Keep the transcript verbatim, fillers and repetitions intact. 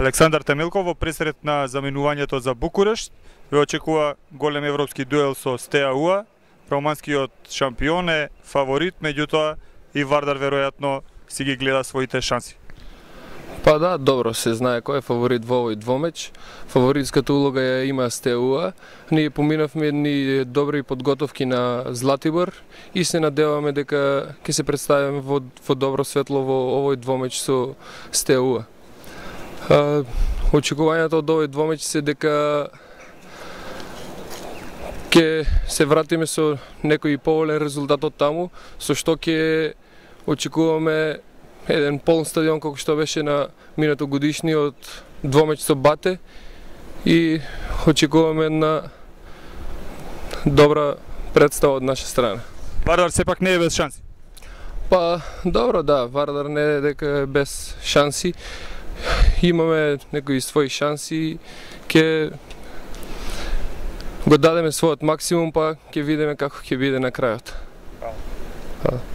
Александар Темелков во пресред на заменувањето за Букурешт ве очекува голем европски дуел со Стеа Уа. Романскиот шампион е фаворит, меѓутоа и Вардар веројатно си ги гледа своите шанси. Па да, добро се знае кој е фаворит во овој двомеч. Фаворитската улога ја има Стеа Уа. Ние поминавме едни добри подготовки на Златибор и се надеваме дека ќе се представиме во, во добро светло во овој двомеч со Стеа Уа. А, очекувањето од овој двомеч се дека ќе се вратиме со некој поволен резултат од таму, со што ќе очекуваме еден полн стадион како што беше на минато годишниот двомеч со Бате и очекуваме една добра представа од наша страна. Вардар сепак не е без шанси. Па добро, да, Вардар не е дека е без шанси. Имаме некои своји шанси, ќе го дадеме својот максимум, па ќе видиме како ќе биде на крајот. Хвала.